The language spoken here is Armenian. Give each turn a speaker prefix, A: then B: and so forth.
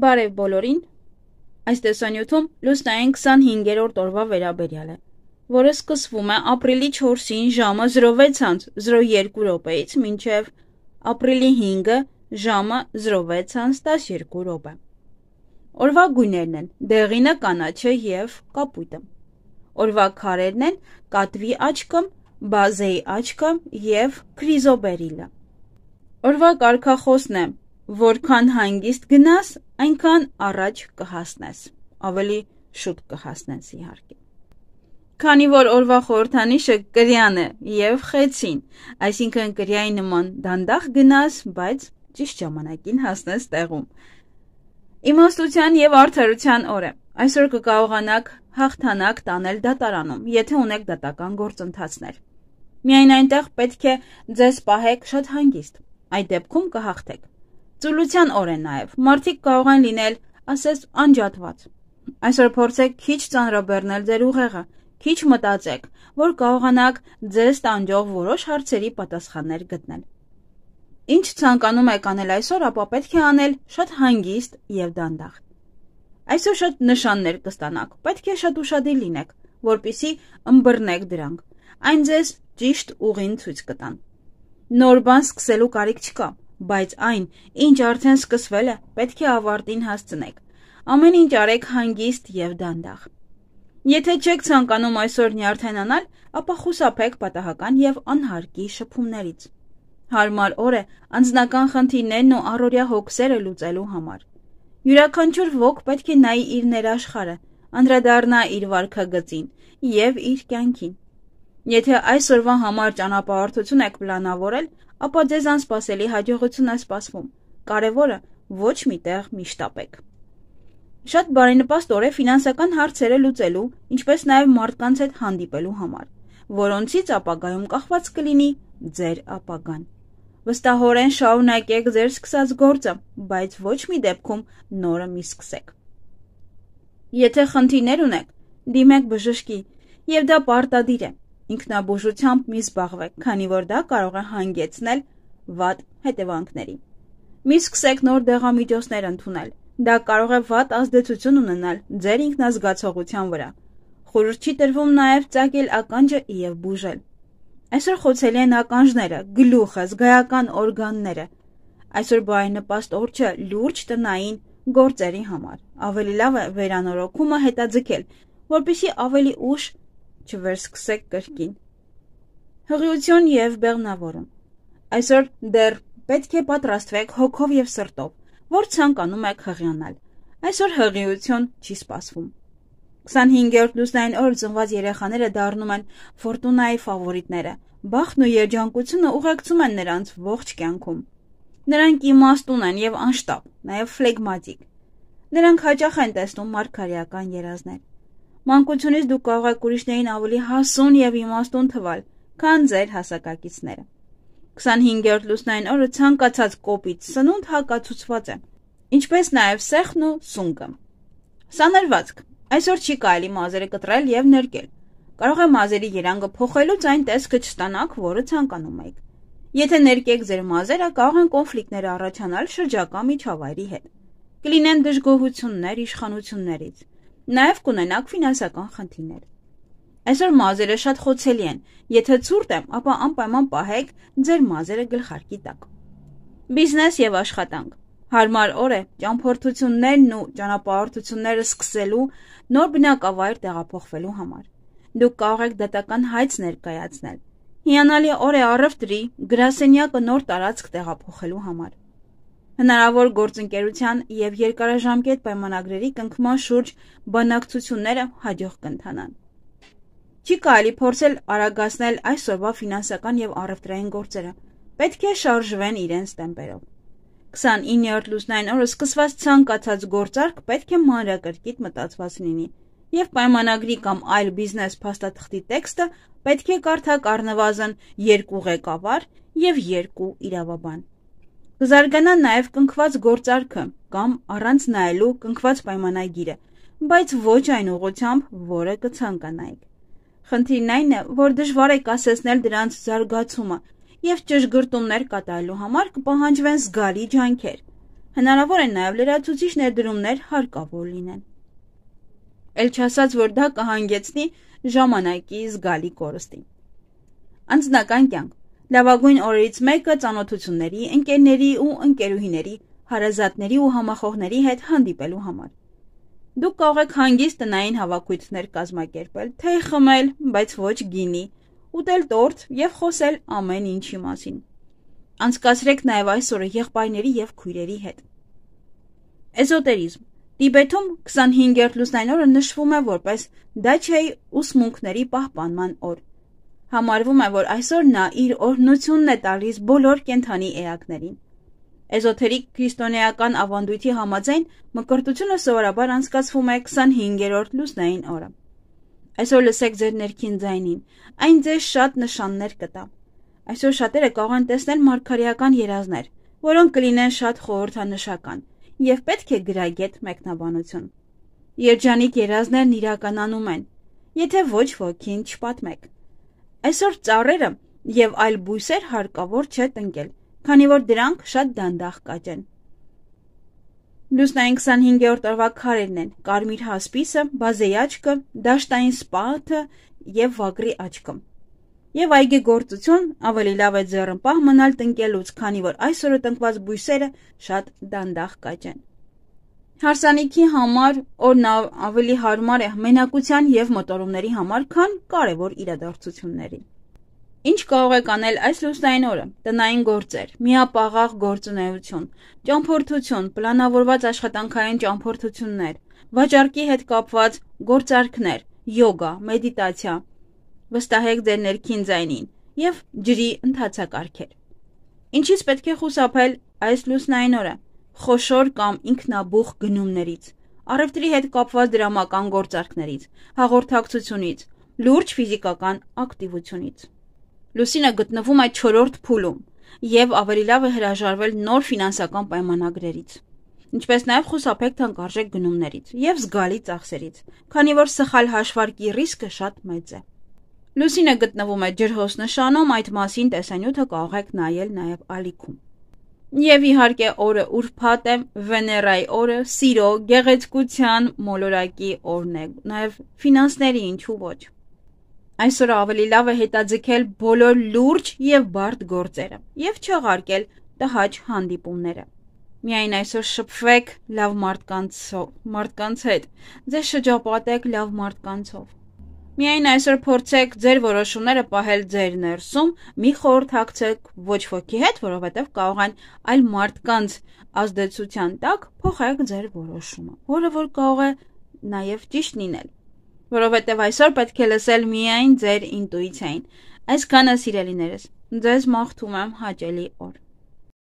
A: Բարև բոլորին, այս տեսանյութում լուսնային 25-րդ օրվա վերաբերյալ է, որը սկսվում է ապրիլի 4-ին ժամը 06:02 մինչև ապրիլի 5-ը ժամը 06:12 Օրվա գույներն են դեղինը, կանաչը և կապույտը։ Օրվա քարերն են կատվի աչքը, բազեի աչքը և քրիզոբերիլը։ Օրվա կարգախոսն է. որքան հանգիստ գնաս, այնքան առաջ կհասնես, ավելի շուտ կհասնես իհարկե։ Քանի որ օրվա խորհրդանիշը կրյան է և խեցին, այսինքն կրյայի նման դանդաղ գնաս, բայց ճիշտ ժամանակին հասնես տեղում։ Իմաստության և արդարության օր է։ Այսօր կկարողանաք հաղթանակ տանել դատարանում, եթե ունեք դատական գործընթացներ։ Միայն այնտեղ պետք է ձեզ պահեք շատ հանգիստ, այդ դեպքում կհաղթեք։ Ծուլության օր է նաև, մարդիկ կարող են լինել, ասես, անջատված։ Այսօր փորձեք քիչ ծանրաբեռնել ձեր ուղեղը, քիչ մտածեք, որ կարողանաք ձեզ տանջող որոշ հարցերի պատասխաններ գտնել։ Ինչ ցանկանում եք անել այսօր, ապա պետք է անել շատ հանգիստ և դանդաղ։ Այսօր շատ նշաններ կստանաք, պետք է շատ ուշադիր լինեք, որպեսզի ըմբռնեք դրանք, այն ձեզ ճիշտ ուղին ցույց կտան։ Նոր բան սկսելու կարիք չկա, բայց այն, ինչ արդեն սկսվել է, պետք է ավարտին հասցնեք։ Ամեն ինչ արեք հանգիստ և դանդաղ։ Եթե չեք ցանկանում այսօր նյարդայնանալ, ապա խուսափեք պատահական և անհարկի շփումներից։ Հարմար օր է անձնական խնդիրներն ու առօրյա հոգսերը լուծելու համար։ Յուրաքանչյուր ոք պետք է նայի իր ներաշխարհը, անդրադառնա իր վարքագծին և իր կյանքին։ Եթե այսօրվա համար ճանապարհորդություն եք պլանավորել, ապա ձեզ անսպասելի հաջողություն է սպասվում։ Կարևորը ոչ մի տեղ մի շտապեք։ Շատ բարենպաստ օր է ֆինանսական հարցերը լուծելու, ինչպես նաև մարդկանց հետ հանդիպելու համար, որոնցից ապագայում կախված կլինի ձեր ապագան։ Վստահորեն շարունակեք ձեր սկսած գործը, բայց ոչ մի դեպքում նորը մի սկսեք։ Եթե խնդիրներ ունեք, դիմեք բժշկի, և դա պարտադիր է։ Ինքնաբուժությամբ մի զբաղվեք, քանի որ դա կարող է հանգեցնել վատ հետևանքների։ Մի սկսեք նոր դեղամիջոցներ ընդունել, դա կարող է վատ ազդեցություն ունենալ ձեր ինքնազգացողության վրա։ Խորհուրդ չի տրվում նաև ծակել ականջը և բուժել։ Այսօր խոցելի են ականջները, գլուխը, զգայական օրգանները։ Այսօր բարենպաստ օր չէ լուրջ տնային գործերի համար։ Ավելի լավ է վերանորոգումը հետաձգել, որպեսզի ավելի ուշ չվերսկսեք կրկին։ Հղիություն և բեղմնավորում։ Այսօր դեռ պետք է պատրաստվեք հոգով և սրտով, որ ցանկանում եք հղիանալ։ Այսօր հղիություն չի սպասվում։ 25-րդ լուսնային օրը ծնված երեխաները դառնում են ֆորտունայի ֆավորիտները։ Բախտն ու երջանկությունը ուղեկցում են նրանց ողջ կյանքում։ Նրանք իմաստուն են և անշտապ, նաև ֆլեգմատիկ։ Նրանք հաճախ են տեսնում մարգարեական երազներ։ Մանկությունից դուք կարող եք ուրիշներին ավելի հասուն և իմաստուն թվալ, քան ձեր հասակակիցները։ 25-րդ լուսնային օրը ցանկացած կոպիտ սնունդ հակացուցված է, ինչպես նաև սեխն ու սունկը։ Սանրվածք։ Այսօր չի կարելի մազերը կտրել և նրկել։ Կարող է մազերի երանգը փոխելուց այն տեսքը չստանաք, որը ցանկանում եք։ Եթե նրկեք ձեր մազերը, կարող են կոնֆլիկտներ առաջանալ շրջակա միջավայրի հետ։ Կլինեն դժգոհություններ իշխանություններից։ Նաև կունենաք ֆինանսական խնդիրներ։ Այսօր մազերը շատ խոցելի են։ Եթե ցուրտ է, ապա անպայման պահեք ձեր մազերը գլխարկի տակ։ Բիզնես և աշխատանք։ Հարմար օր է ճամփորդություններն ու ճանապարհորդությունները սկսելու, նոր բնակավայր տեղափոխվելու համար։ Դուք կարող եք դատական հայց ներկայացնել։ Հիանալի օր է առևտրի, գրասենյակը նոր տարածք տեղափոխելու համար։ Հնարավոր գործընկերության և երկարաժամկետ պայմանագրերի կնքման շուրջ բանակցությունները հաջող կընթանան։ Չի կարելի փորձել արագացնել այսօրվա ֆինանսական և առևտրային գործերը։ Պետք է շարժվեն իրենց տեմպերով։ 29-րդ լուսնային օրը սկսված ցանկացած գործարք պետք է մանրակրկիտ մտածված լինի, և պայմանագրի կամ այլ բիզնես փաստաթղթի տեքստը պետք է կարդաք առնվազն 2 ղեկավար և 2 իրավաբան։ Կզարգանա նաև կնքված գործարքը կամ առանց նայելու կնքված պայմանագիրը, բայց ոչ այն ուղղությամբ, որը կցանկանայիք։ Խնդիրն այն է, որ դժվար է կասեցնել դրանց զարգացումը, և ճշգրտումներ կատարելու համար կպահանջվեն զգալի ջանքեր։ հնարավոր են նաև լրացուցիչ ներդրումներ հարկավոր լինեն։ Էլ չասած, որ դա կհանգեցնի ժամանակի զգալի կորստի։ Անձնական կյանք։ Լավագույն օրերից մեկը ծանոթությունների, ընկերների ու ընկերուհիների, հարազատների ու համախոհների հետ հանդիպելու համար։ Դուք կարող եք հանգիստ տնային հավաքույթներ կազմակերպել, թեյ խմել, բայց ոչ գինի, ուտել տորտ և խոսել ամեն ինչի մասին։ Անցկացրեք նաև այս օրը եղբայրների և քույրերի հետ։ Էզոտերիզմ։ Տիբեթում 25-րդ լուսնային օրը նշվում է որպես դաչեի ուսմունքների պահպանման օր։ Համարվում է, որ այսօր նա իր օրհնությունն է տալիս բոլոր կենդանի էակներին։ Էզոթերիկ քրիստոնեական ավանդույթի համաձայն մկրտությունը սովորաբար անցկացվում է 25-րդ լուսնային օրը։ Այսօր լսեք ձեր ներքին ձայնին, այն ձեզ շատ նշաններ կտա։ Այսօր շատերը կարող են տեսնել մարգարեական երազներ, որոնք կլինեն շատ խորհրդանշական և պետք է գրագետ մեկնաբանություն։ Երջանիկ երազներն իրականանում են, եթե ոչ ոքին չպատմեք։ Այսօր ծառերը և այլ բույսեր հարկավոր չէ տնկել, քանի որ դրանք շատ դանդաղ կաճեն։ Լուսնային 25-րդ օրվա քարերն են կարմիր հասպիսը, բազեի աչքը, դաշտային սպաթը և վագրի աչքը։ Եվ այգեգործություն ավելի լավ է ձեռնպահ մնալ տնկելուց, քանի որ այսօրը տնկված բույսերը շատ դանդաղ կաճեն։ Հարսանիքի համար օրն ավելի հարմար է մենակության և մոտորումների համար, քան կարևոր իրադարձությունների։ Ինչ կարող եք անել այս լուսնային օրը։ Տնային գործեր, միապաղաղ գործունեություն, ճամփորդություն, պլանավորված աշխատանքային ճամփորդություններ, վաճառքի հետ կապված գործարքներ, յոգա, մեդիտացիա։ Վստահեք ձեր ներքին ձայնին և ջրի ընթացակարգեր։ Ինչից պետք է խուսափել այս լուսնային օրը։ Խոշոր կամ ինքնաբուխ գնումներից, առևտրի հետ կապված դրամական գործարքներից, հաղորդակցությունից, լուրջ ֆիզիկական ակտիվությունից։ Լուսինը գտնվում է 4-րդ փուլում և ավելի լավ է հրաժարվել նոր ֆինանսական պայմանագրերից, ինչպես նաև խուսափեք թանկարժեք գնումներից և զգալի ծախսերից, քանի որ սխալ հաշվարկի ռիսկը շատ մեծ է։ Լուսինը գտնվում է ջրհոս նշանում, այդ մասին տեսանյութը կարող եք նայել նաև ալիքում։ Եվ իհարկե օրը ուրբաթ է, Վեներայի օրը, սիրո, գեղեցկության, մոլորակի օրն է, նաև ֆինանսների, ինչու ոչ։ Այսօր ավելի լավ է հետաձգել բոլոր լուրջ և բարդ գործերը և չեղարկել տհաճ հանդիպումները։ Միայն այսօր շփվեք լավ մարդկանց հետ, ձեզ շրջապատեք լավ մարդկանցով։ Միայն այսօր փորձեք ձեր որոշումները պահել ձեր ներսում, մի խորհրդակցեք ոչ ոքի հետ, որովհետև կարող են այլ մարդկանց ազդեցության տակ փոխեք ձեր որոշումը, որը որ կարող է նաև ճիշտ լինել, որովհետև այսօր պետք է լսել միայն ձեր ինտուիցիային։ Այսքանը, սիրելիներս, ձեզ մաղթում եմ հաճելի օր։